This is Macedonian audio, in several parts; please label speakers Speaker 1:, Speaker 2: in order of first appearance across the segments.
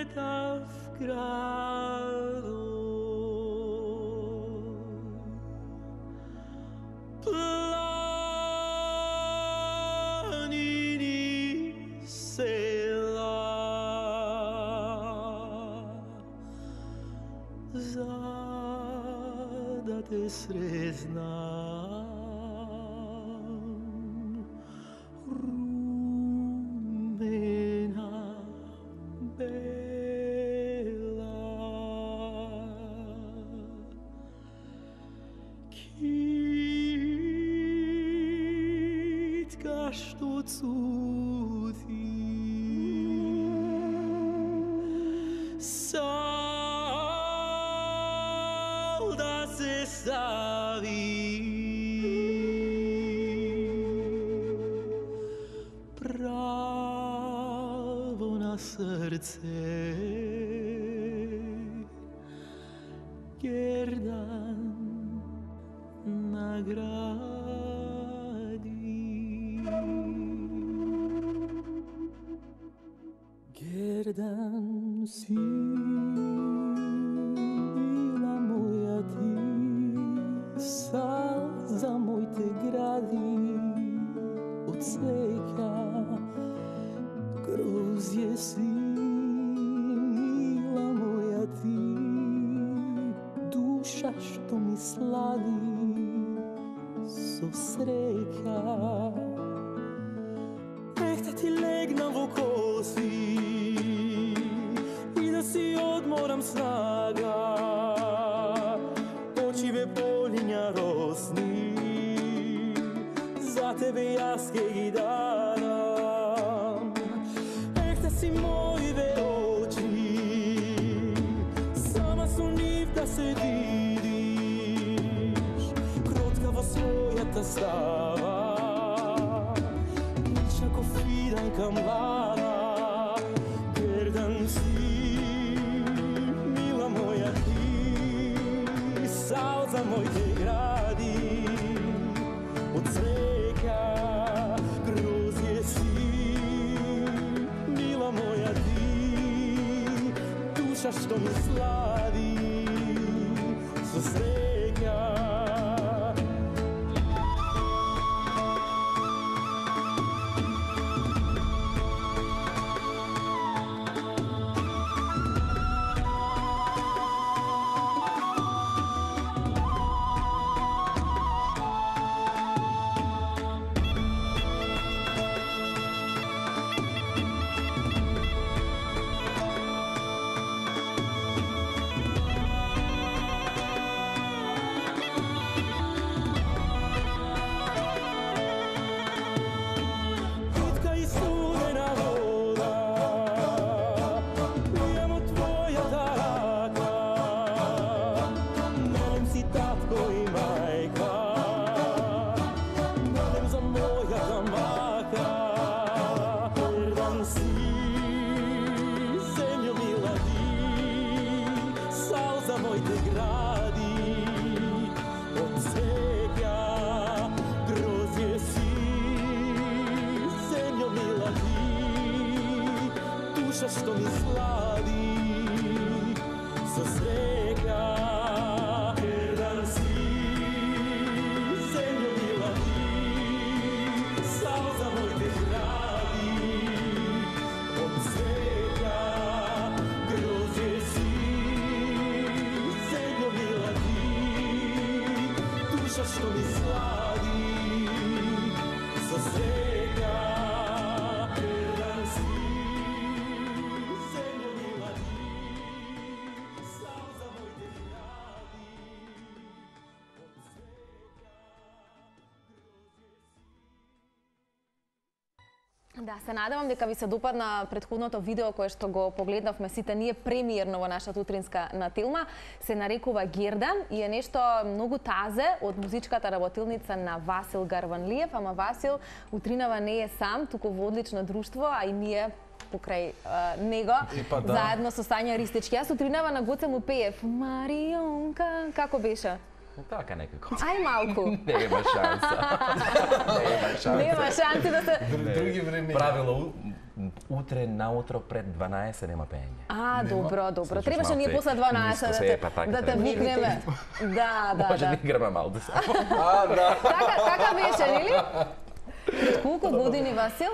Speaker 1: sveta v gradu. Planini sela da te sreznam. Što cuti sal da se stavi pravo na srce Gerdan nagradi. Gerdan si bila moja ti, sal za moj te gradi od svega grozje si mila moja ti, duša što mi slavi so sreća. Da ti legnem v kosi i da si odmoram snaga, oči me polinja rosni, za tebe jaz kaj daram. Da si moje oči, sama su niv da se vidiš, krotkavo svoja ta stava, fidanka mlada. Gerdan si, mila moja ti, sal za moj te gradi od svega grozje si, mila moja ti, duša što mi slavi so svega. Što mi slavi sa svega. Gerdan si, zemljo mila ti, sal za moj te gradi od svega grozje si, zemljo mila ti, duša što mi slavi sa svega. Gerdan si,
Speaker 2: Да, се надевам дека ви се допадна претходното видео кое што го погледнавме сите ние премиерно во нашата утринска нателма. Се нарекува Гердан и е нешто многу тазе од музичката работилница на Васил Гарванлиев, ама Васил утринава не е сам, туку во одлично друштво, а и ние покрај него, заедно со Сања Ристички. Јас утринава на Гоце му пеев Марионка, како беше?
Speaker 3: Така некако.
Speaker 2: Ај малку.
Speaker 3: Нема шанса.
Speaker 2: Нема шанси да се...
Speaker 3: Други време. Правило Утре наутро пред 12 нема пеење.
Speaker 2: Добро. Требаше ние после 12 да те викнеме. Да.
Speaker 3: Може да играме малку само.
Speaker 2: Така беше, нели? Пред колку години, Васил?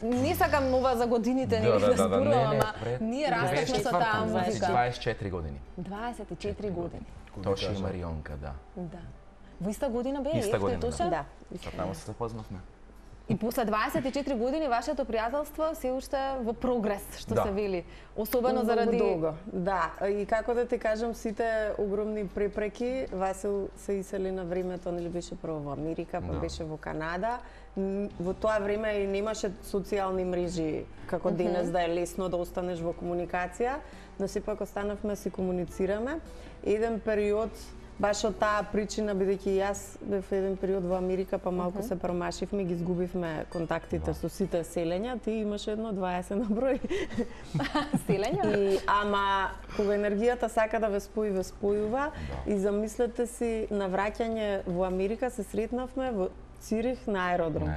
Speaker 2: Не сакам ова за годините, нели да зборувам, ама ние растахме со таа музика.
Speaker 3: 24 години.
Speaker 2: 24 години.
Speaker 3: Тоши и Марионка, да.
Speaker 2: Во иста година бе,
Speaker 3: Иста година,
Speaker 2: Тоша?
Speaker 3: Да. Таму се запознавме.
Speaker 2: И после 24 години вашето пријателство се уште во прогрес, што се вели. Особено заради...
Speaker 4: Долго. Да, и како да ти кажам, сите огромни препреки, Васил се исели на времето, нели беше прво во Америка, па беше во Канада. Во тоа време и немаше социјални мрежи, како денес да е лесно да останеш во комуникација, но сепак останавме си комуницираме. Еден период, баш од таа причина, бидејќи јас бев еден период во Америка, па малку се промашивме, ги изгубивме контактите со сите селења, ти имаш едно 20 на број.
Speaker 2: Селења?
Speaker 4: Ама кога енергијата сака да ве спојува, и замислете си на враќање во Америка се сретнавме во Цирих на аеродром.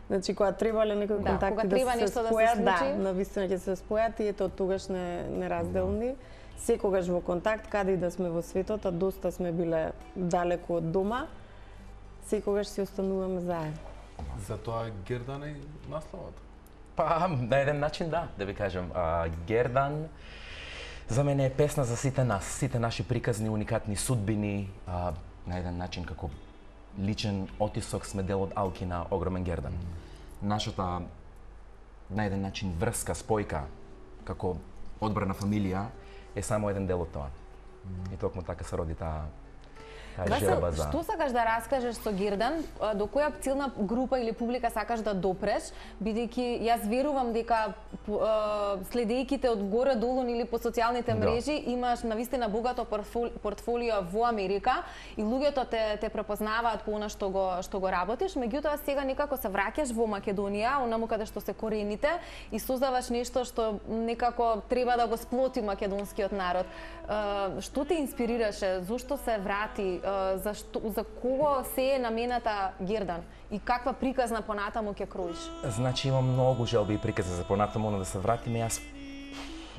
Speaker 4: Значи, кога требале некои контакти да се спојат, на вистина ќе се спојат и ето од тогаш неразделни. Секогаш во контакт, каде и да сме во светот, а доста сме биле далеку од дома, секогаш си остануваме заедно.
Speaker 5: Затоа Гердан е насловата?
Speaker 3: Па, на еден начин да ви кажам. Гердан за мене е песна за сите нас, сите наши приказни, уникатни судбини, на еден начин како личен отисок сме дел од Алкина, огромен Гердан. Нашата на еден начин врска, спојка, како одбрана фамилија, е само еден дел од тоа. И токму така се роди таа желба за...
Speaker 2: Што сакаш да раскажеш со Гердан? До која цилна група или публика сакаш да допреш? Бидејќи јас верувам дека следејќи те од горе долу или по социјалните мрежи имаш навистина богато портфолио во Америка и луѓето те препознаваат по она што го работиш, меѓутоа сега некако се враќаш во Македонија, онаму каде што се корените и создаваш нешто што некако треба да го сплоти македонскиот народ. Што те инспирираше? Зошто се врати? За кого се е намената Гердан и каква приказна понатаму ќе кроиш?
Speaker 3: Значи имам многу желби и приказни за понатаму, но да се вратиме јас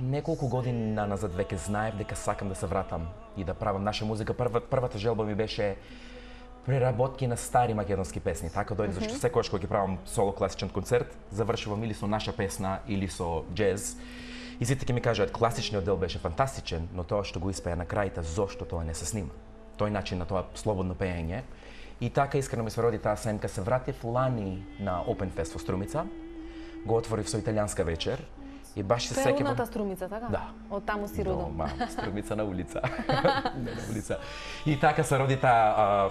Speaker 3: неколку години назад веќе знаев дека сакам да се вратам и да правам наша музика. Првата желба ми беше преработки на стари македонски песни. Така дојде зашто секогаш кога ќе правам соло класичен концерт, завршувам или со наша песна или со џез. И сите ќе ми кажат класичниот дел беше фантастичен, но тоа што го испеа на крајта, зошто тоа не се снима? Тој начин на тоа слободно пеење. И така искрено ми се роди таа семка. Се вратив лани на Open Fest во Струмица. Го отворив со италијанска вечер. И баш се сеќавам.
Speaker 2: Родната Струмица, така?
Speaker 3: Да.
Speaker 2: Од таму си родом.
Speaker 3: Дома, Струмица на улица. Не на улица. И така се роди таа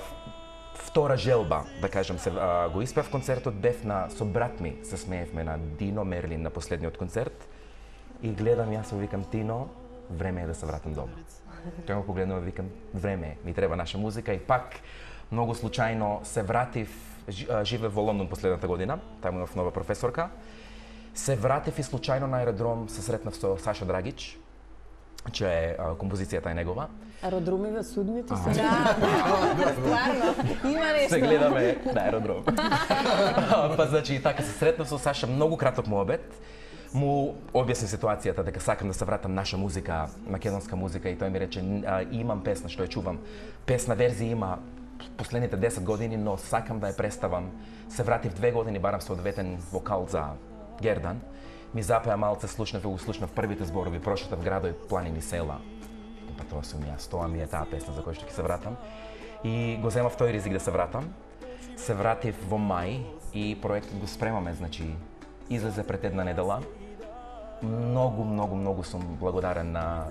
Speaker 3: втора желба, да кажам се. Го испев концертот, бев со брат ми, се смеевме на Дино Мерлин на последниот концерт. И гледам јас и викам Тино, време е да се вратам дома. Тој ме погледнува и викам, време, ми треба наша музика и пак многу случајно се вратив, живеев во Лондон последната година, таму имав нова професорка. Се вратив и случајно на аеродром се сретнав со Саша Драгич, че е композицијата е негова.
Speaker 4: Аеродромиве судните се.
Speaker 2: Да, стварно, има нешто.
Speaker 3: Се гледаме на аеродром. Па значи така се сретнав со Саша, многу краток муабет. Му објасни ситуацијата дека сакам да се вратам наша музика, македонска музика и тој ми рече имам песна што ја чувам. Песна верзија има последните 10 години, но сакам да ја представам. Се вратив 2 години, барам со одветен вокал за Гердан. Ми запеа малце, слушнав првите зборови, прошетав градови, планини, села. Па тоа сум јас, тоа ми е таа песна за која што ќе се вратам. И го земав тој ризик да се вратам. Се вратив во мај и проектот го спремаме, значи излезе пред една недела. Многу сум благодарен на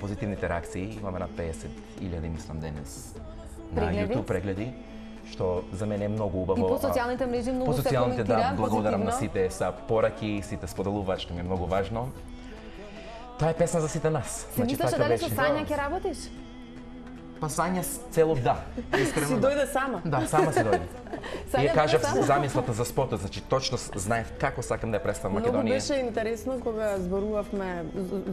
Speaker 3: позитивните реакции. Имаме над 50.000, мислам, денес на YouTube прегледи, што за мене е многу убаво.
Speaker 2: И по социјалните мрежи многу се коментира
Speaker 3: да, благодарам на сите са пораки, сите споделуваат, што ми е многу важно. Тоа е песна за сите нас.
Speaker 2: Се мислиш дали со Сања ќе работиш?
Speaker 3: Па Сања цело да, искрено.
Speaker 4: Си дојде сама?
Speaker 3: Да, сама си дојде. И ја кажав замислата за спотот, значи точно знаев како сакам да ја представам Македонија.
Speaker 4: Многу беше интересно кога зборувавме,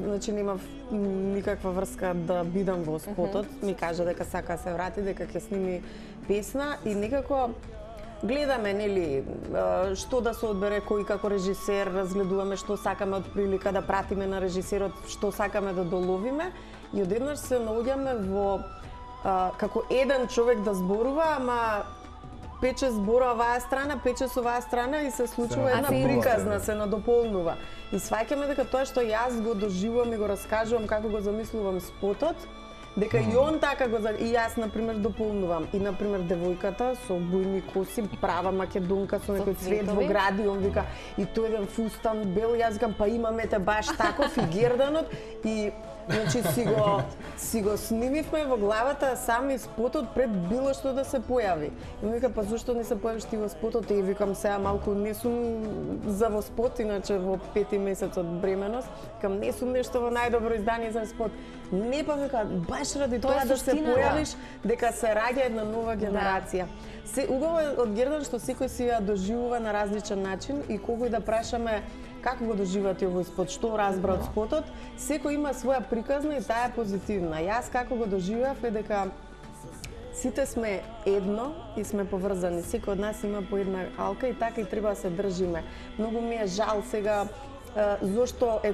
Speaker 4: значи немав никаква врска да бидам во спотот, ми кажа дека сака да се врати, дека ќе сними песна и некако гледаме, нели, што да се одбере кој како режисер, разгледуваме што сакаме од прилика да пратиме на режисерот, што сакаме да доловиме и одеднаш се наоѓаме во како еден човек да зборува, ама 5-6 збора оваа страна, 5-6 оваа страна и се случува една приказна, се надополнува. И сваќаме дека тоа што јас го доживувам и го раскажувам како го замислувам спотот, дека и он така го и јас на пример дополнувам. И на пример девојката со бујни коси, права македонка со некој цвет во гради, он вика и тој еден фустан бел, јас викам па имаме те баш таков и Герданот и значи си го снимивме во главата сами спотот пред било што да се појави. И ми вика па зошто не се појавиш ти во спотот? И викам сега малку не сум за во спот, иначе во 5-ти месец од бременост, викам не сум нешто во најдобро издание за спот. Не па вика баш ради тоа да се појавиш дека се раѓа една нова генерација. Се убаво е од Гердан што секој си ја доживува на различен начин и кога да прашаме како го доживате овој спот, што разбра од спотот, секој има своја приказна и таа е позитивна. Јас како го доживеав е дека сите сме едно и сме поврзани. Секој од нас има по една алка и така и треба да се држиме. Многу ми е жал сега зошто е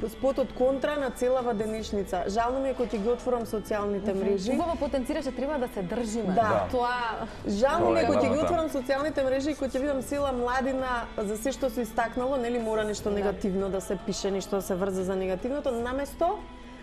Speaker 4: спотот контра на целава денешница. Жално ми е кога ќе ги отворам социјалните мрежи.
Speaker 2: Убаво потенцираше треба да се држиме.
Speaker 4: Да.
Speaker 2: Тоа
Speaker 4: жално ми е кога ќе ги отворам социјалните мрежи и кога ќе видам села младина за се што се истакнало, нели мора нешто негативно да се пише, нешто да се врзе за негативното, наместо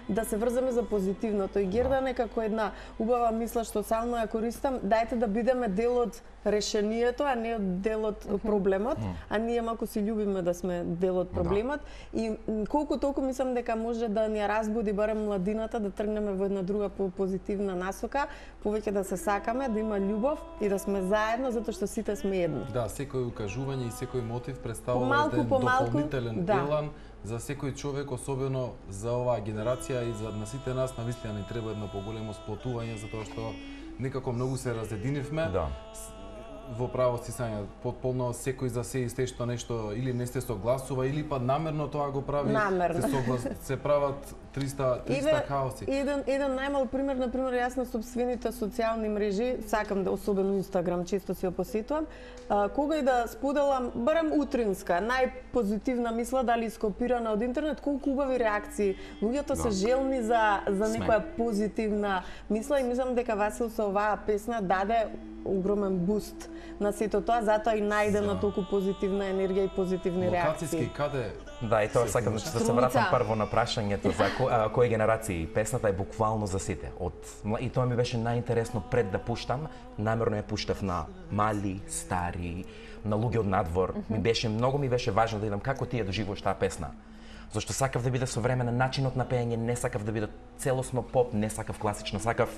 Speaker 4: да се врземе за позитивното. И Гердан е како една убава мисла што сално ја користам, дајте да бидеме дел од решението, а не дел од проблемот, а ние малку си љубиме да сме дел од проблемот и колку толку мислам дека може да ни ја разбуди барем младината да тргнеме во една друга позитивна насока, повеќе да се сакаме, да има љубов и да сме заедно затоа што сите сме едно.
Speaker 5: Да, секој укажување и секој мотив представува еден дополнителен елан за секој човек, особено за оваа генерација и за на сите нас, навистина ни треба едно поголемо сплотување затоа што некако многу се разединивме.
Speaker 3: Да.
Speaker 5: Во право стисање, потполно секој за се и што нешто или не се согласува или па намерно тоа го прави.
Speaker 4: Намерно.
Speaker 5: Се прават 300 хаоси.
Speaker 4: Еден најмал пример, на пример, јас на сопствените социјални мрежи, сакам да особено Инстаграм, често си ја посетувам, кога и да споделам, барем утринска, најпозитивна мисла, дали скопирана од интернет, колку убави реакции. Луѓето се желни за некоја позитивна мисла и мислам дека Васил со оваа песна даде огромен буст на сето тоа, затоа и најдена толку позитивна енергија и позитивни реакции.
Speaker 5: Локацијски каде?
Speaker 3: Да, и тоа сакам да се вратам прво на прашањето за кои генерации. Песната е буквално за сите. И тоа ми беше најинтересно пред да пуштам, намерно ја пуштав на мали, стари, на луѓе од надвор. Многу ми беше важно да видам како ти ја доживуваш таа песна. Зашто сакав да биде современа начинот на пеење, не сакав да биде целосно поп, не сакав класично, сакав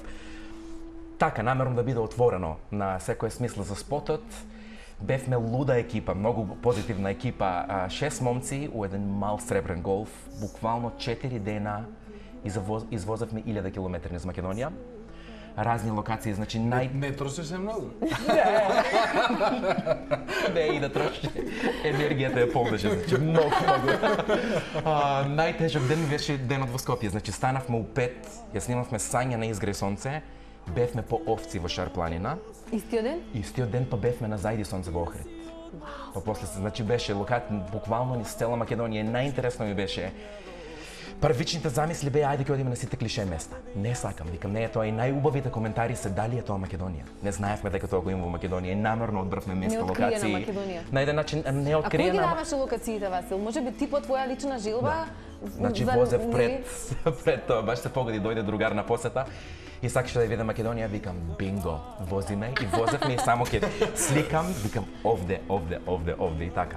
Speaker 3: така, намерно да биде отворено на секој смисла за спотот. Бевме луда екипа, многу позитивна екипа, 6 момци у еден мал сребрен голф, буквално 4 дена извозевме 1000 километри низ Македонија. Разни локации, значи
Speaker 5: Не трошеше многу?
Speaker 3: Не, и да трошеше. Енергијата ја полнеше, значи многу. Најтежок ден беше денот во Скопје, значи станавме у 5, ја снимавме Сања на изгре сонце, бевме по овци во Шар планина.
Speaker 2: Истиот ден?
Speaker 3: Истиот ден па бевме на Зајди сонце во Охрид. Па после се, значи беше буквално низ цела Македонија. Најинтересно ми беше првичните замисли беа ајде ќе одиме на сите клише места. Не сакам, викам не е тоа и најубавите коментари се дали е тоа Македонија. Не знаевме дека тоа го има во Македонија и намерно одбравме место, локации. На еден начин не
Speaker 2: откриена.
Speaker 3: откриена.
Speaker 2: А кој ги даваше локациите, Васил? Може би ти по твоја лична жилба?
Speaker 3: Значи возев пред тоа, баш се погоди, дојде другар на посета и сакаше да ја виде Македонија, викам бинго, возиме и возевме и само ќе сликам, викам овде и така.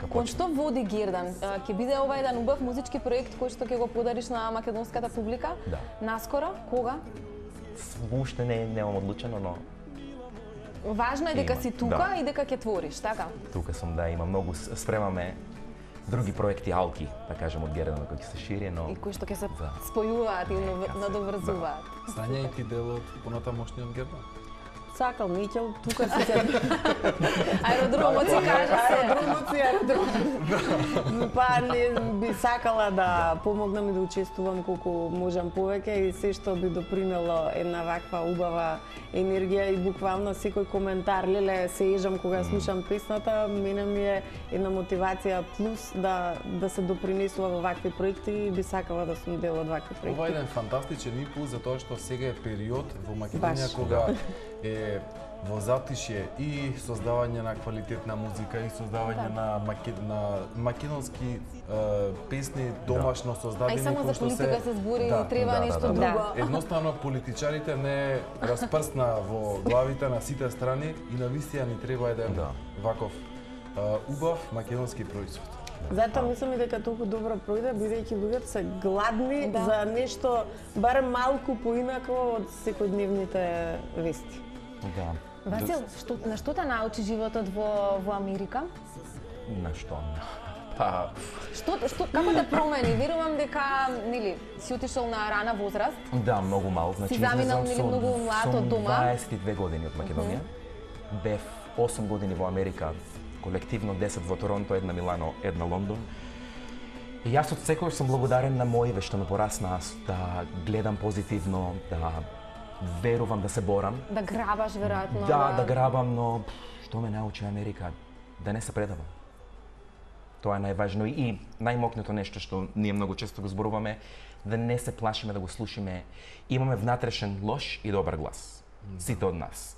Speaker 2: Кон што води Гердан? Ќе биде ова еден убав музички проект кој што ќе го подариш на македонската публика?
Speaker 3: Да.
Speaker 2: Наскоро? Кога?
Speaker 3: Уште немам одлучено, но
Speaker 2: важно е дека си тука и дека ќе твориш, така?
Speaker 3: Тука сум, да, има многу, спремаме други проекти алки, да кажем, од Гердан кои ќе се шири, но
Speaker 2: и кои што ќе се спојуваат и надоврзуваат.
Speaker 5: Сања и ти дел од понатамошниот Гердан?
Speaker 4: сакал, неќел, тука си се...
Speaker 2: Аеродромот си кажа се.
Speaker 4: Аеродромот. Па не би сакала да помогнам и да учествувам колку можам повеќе и се што би допринело една ваква убава енергија и буквално секој коментар, леле, се ежам кога слушам песната, мене ми е една мотивација плюс да се допринесува во вакви проекти и би сакала да сум дел од вакви проекти.
Speaker 5: Ова е еден фантастичен импулс за тоа што сега е период во Македонија кога е во затишје и создавање на квалитетна музика и создавање на македонски песни домашно создадени.
Speaker 2: А и само за политика се збори, треба нешто друго.
Speaker 5: Едноставно политичарите не распрсна во главите на сите страни и навистина ни треба еден ваков убав македонски производ.
Speaker 4: Затоа мислам и дека толку добро пројде, бидејќи луѓето се гладни за нешто барем малку поинако од секојдневните вести.
Speaker 3: Да.
Speaker 2: Васил, на што те научи животот во Америка?
Speaker 3: На што? Па...
Speaker 2: Како те промени? Верувам дека, нели, си отишол на рана возраст.
Speaker 3: Да, многу мал.
Speaker 2: Значи, си заминал, нели, многу млад од дома.
Speaker 3: 22 години од Македонија. Бев 8 години во Америка, колективно 10 во Торонто, една Милано, една Лондон. И јас од секој сум благодарен на моиве што ме порасна да гледам позитивно, да верувам, да се борам.
Speaker 2: Да грабаш, веројатно.
Speaker 3: Да грабам, но што ме научи Америка? Да не се предавам. Тоа е најважно и најмокното нешто што ние многу често го зборуваме, да не се плашиме да го слушаме. Имаме внатрешен лош и добар глас. Сите од нас.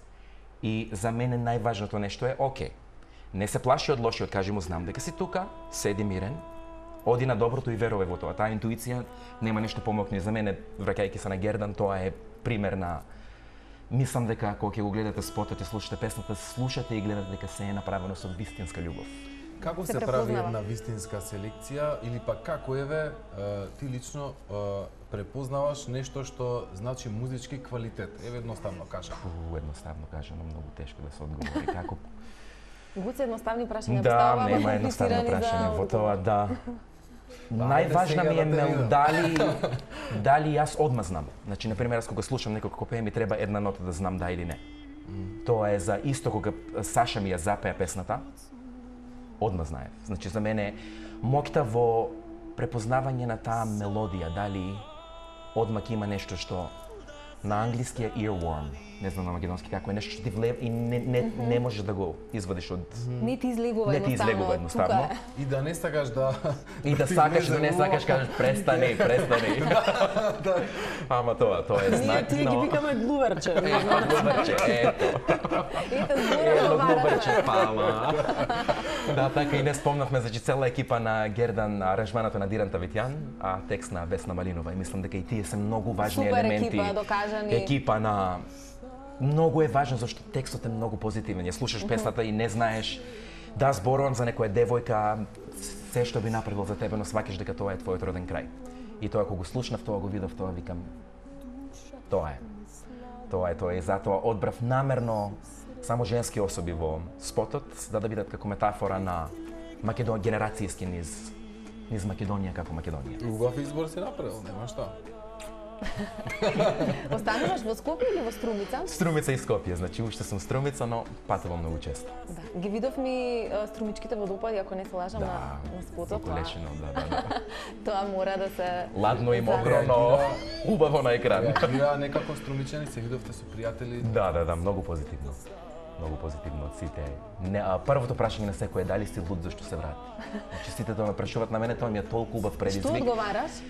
Speaker 3: И за мене најважното нешто е, окей, не се плаши од лошиот, кажи му, знам дека си тука, седи мирен, оди на доброто и верувай во тоа. Таа интуиција нема нешто помокни за мене, враќајќи се на Гердан, тоа е пример на... Мислам дека кога ќе го гледате спотот и слушате песната, слушате и гледате дека се е направено со вистинска љубов.
Speaker 5: Како се прави една вистинска селекција или пак како еве ти лично препознаваш нешто што значи музички квалитет? Еве едноставно кажа.
Speaker 3: Едноставно кажано, многу тешко да се одговори. Како?
Speaker 2: Гуце едноставни прашања
Speaker 3: да, нема едноставно прашање во тоа, да. Најважна ми е дали јас одма знам. Значи, например, кога слушам некој како пее, ми треба една нота да знам да или не. Тоа е за исто кога Саша ми ја запеа песната, одма знаев. Значи, за мене моќта во препознавање на таа мелодија, дали одмак има нешто што на англиски е earworm, не знам на македонски како е, нешто што ти влева и не можеш да го извадиш од...
Speaker 2: Не ти излегува едноставно.
Speaker 5: И да не сакаш да...
Speaker 3: И да сакаш, да не сакаш, кажеш престани. Ама тоа е знак,
Speaker 4: но... Ние ги викаме глуверче.
Speaker 3: Ето глуверче, пала. Да, така и не спомнавме, значи цела екипа на Гердан, аранжманато на Диран Тавитјан, а текст на Весна Малинова. И мислам дека и тие се многу важни елементи. Екипа на... Многу е важно зашто текстот е многу позитивен. Ја слушаш песната и не знаеш да зборувам за некоја девојка, се што би направил за тебе, но сваќаш дека тоа е твојот роден крај. И тоа кога го слушнав, тоа го видов, тоа викам тоа е. И затоа одбрав намерно само женски особи во спотот, да бидат како метафора на генерацијски низ Македонија како Македонија.
Speaker 5: Убав избор си направил, нема што.
Speaker 2: Остануваш во Скопје или во Струмица?
Speaker 3: Струмица и Скопје, значи уште сум Струмица, но патувам многу често.
Speaker 2: Да, ги видовме струмичките водопади, ако не се лажам, на спотот.
Speaker 3: Да, лечено, да.
Speaker 2: Тоа мора да се...
Speaker 3: Ладно и мокро, но убаво на екран.
Speaker 5: Реагира некако струмичани, се видовте со пријатели?
Speaker 3: Да, многу позитивно. Многу позитивно од сите. Првото прашање на секој е дали си луд зашто се врати. Значи сите тоа ме прашуваат на мене, тоа ми е толку убав предизвик.
Speaker 2: Што одговараш?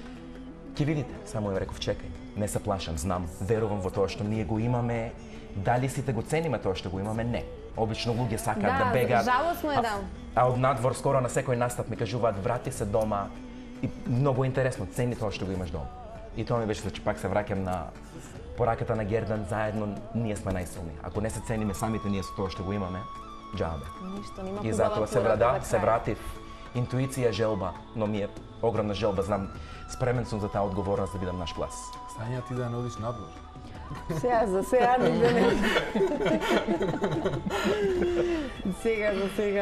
Speaker 3: Ќе видите, само ја реков чекај, не се плашам, знам, верувам во тоа што ние го имаме, дали сите го цениме тоа што го имаме, не. Обично луѓе сакаат да бегаат.
Speaker 2: Да, жалосно е да.
Speaker 3: А од надвор скоро на секој настап ми кажуваат врати се дома и многу интересно, цени тоа што го имаш дома. И тоа ми беше, значи пак се враќам на пораката на Гердан, заедно ние сме најсилни. Ако не се цениме самите ние со тоа што го имаме, џабе.
Speaker 2: Ништо, нема
Speaker 3: и затоа се вратив. Интуиција, желба, но ми е огромна желба, знам, спремен сум за таа одговорност да бидам наш глас.
Speaker 5: Сања ти да не одиш надвор?
Speaker 4: За сега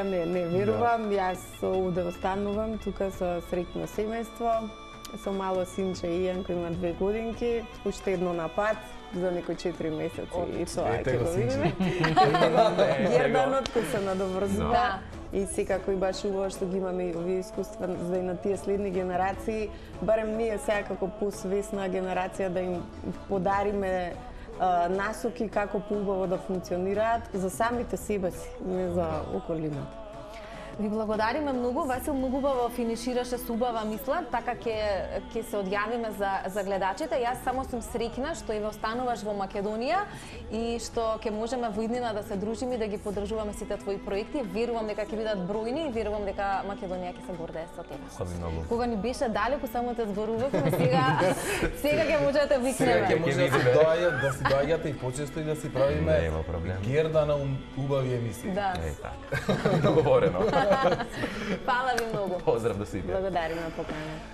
Speaker 4: не верувам, јас овде останувам тука со среќно семејство со мало синче Ијан кој има 2 годинки, уште едно на пат за некои 4 месеци и тоа ќе го видиме. Герданот кој се надоврзува и секако и баш убаво што ги имаме овие искуства за и на тие следни генерации, барем ние сега како посвесна генерација да им подариме насоки како поубаво да функционираат за самите себе си, не за околината.
Speaker 2: Ви благодариме многу, Васил многу убаво финишираше со убава мисла, така ќе се одјавиме за гледачите. Јас само сум среќна што и остануваш во Македонија и што ќе можеме во иднина да се дружиме и да ги поддржуваме сите твои проекти. Верувам дека ќе бидат бројни и верувам дека Македонија ќе се гордее со тебе.
Speaker 3: Хвали многу.
Speaker 2: Кога ни беше далеку само те зборувавме, сега ќе можете да викнеме.
Speaker 5: Сега ќе може да си доаѓате и почесто и да си правиме Герда на убави емисии.
Speaker 2: Да.
Speaker 3: Договорено.
Speaker 2: Фала ви многу.
Speaker 3: Поздрав до сите.
Speaker 4: Благодариме поканата.